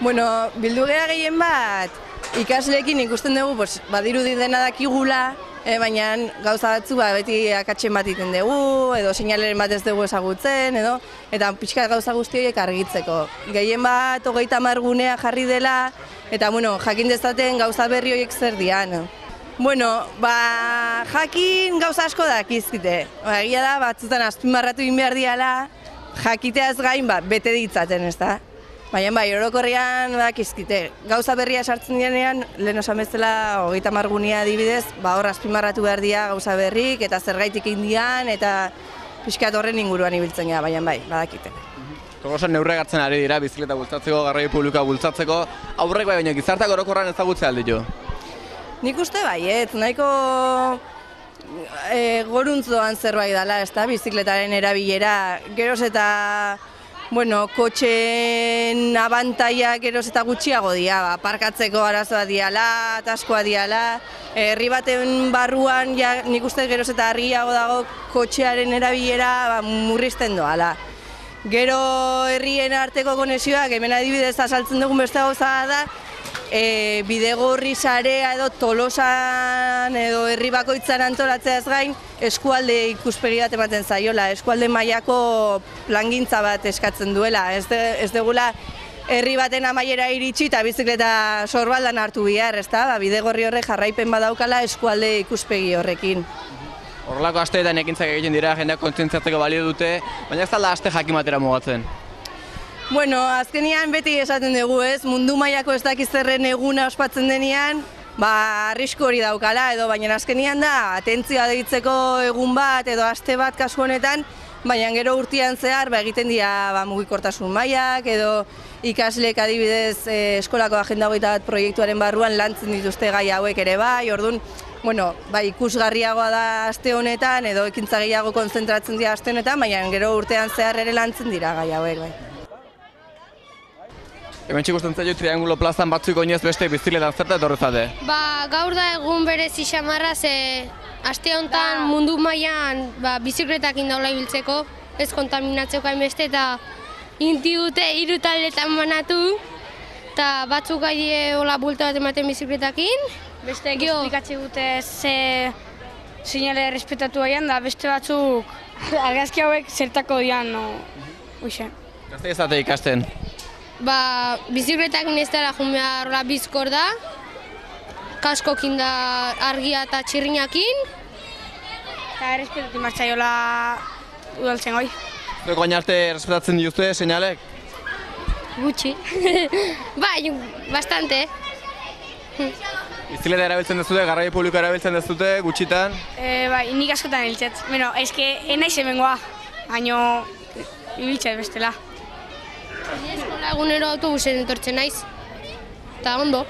Bueno, bildu gera gehien bat, ikasleekin ikusten dugu, badirudi dena dakigula, baina gauza batzu beti akatsen bat iten dugu, edo seinaleren bat ez dugu ezagutzen, eta pixka gauza guzti horiek argitzeko. Gehien bat, 30 gunea jarri dela, eta jakin dezaten gauza berri horiek zer dian. Jakin gauza asko dakizkite. Egia da, batzutan azpimarratu egin behar diala, jakiteaz gain bete ditzaten, ez da? Baina orokorrean dakizkite. Gauza berria sartzen dianean, lehen osan bezala 30 gunea adibidez, hor azpimarratu behar dira gauza berrik, eta zergaitik indian, eta pixkat horren inguruan ibiltzen gara, baina badakite. Togosan neurre hartzen ari dira, bizikleta bultzatzeko, garraio publikoa bultzatzeko, aurrek baina gizarteak orokorran ezagutzea alditu? Nik uste baiet, nahiko goruntzoan zerbait dela, ez da, bizikletaren erabilera, geroz eta kotxeen abantaia geroz eta gutxiago dira, parkatzeko arazoa diala, ataskoa diala, herri baten barruan nik uste geroz eta argiago dago kotxearen erabilera murrizten doala. Gero herrien arteko konexioak, hemen adibidez azaltzen dugun beste gauza da, bidegorri sarea edo Tolosan edo herri bakoitzan antolatzeaz gain eskualde ikuspegi bat ematen zaiola, eskualde mailako plangintza bat eskatzen duela. Ez dugula herri baten amaiera iritsi eta bizikleta sorbaldan hartu behar, ez da? Bidegorri horrek jarraipen badaukala eskualde ikuspegi horrekin. Horrelako asteetan ekintzak egiten dira, jendeak kontzientziatzeko balio dute, baina ez da aste jakin batera mugatzen. Azkenean beti esaten dugu, ez? Mundu mailako ez dakizerren eguna ospatzen denean, arrisku hori daukala edo, baina azkenean da, atentzioa deitzeko egun bat edo aste bat kasu honetan, baina gero urtean zehar egiten dira mugikortasun mailak edo ikasleek adibidez eskolako agenda 21 proiektuaren barruan lantzen dituzte gai hauek ere bai, orduan, ikusgarriagoa da aste honetan edo ekintza gehiago kontzentratzen dira aste honetan, baina gero urtean zehar ere lantzen dira gai hauek bai. Hemen txikusten zailo Triangulo plazan batzuk oinez beste bizikletan zerta etorrezate? Gaur da egun berezi xamarra ze aste honetan mundu mailan bizikletakin daula ibiltzeko, ez kontaminatzeko hainbeste eta inti dute 3 taldetan banatu eta batzuk gaide hola bulta bat ematen bizikletakin. Beste esplikatze dute ze seinale respetatu aian da beste batzuk argazki hauek zertako dian, hoxe. Gazte ezate ikasten? Bizikletakin ez dara joan behar bizkor da, kaskokin da argia eta txirrinakin. Eta errespetatu martzaiola udaltzen goi. Zuek baina arte respetatzen dituzte seinalek? Gutxi. Bastante. Bizikleta erabiltzen dezute, garraio publikoa erabiltzen dezute, gutxitan? Nik askotan hiltzet. Enaiz hemengoa, baina ibiltzet bestela. Eskola egunero autobusen etortzen naiz, eta ondo.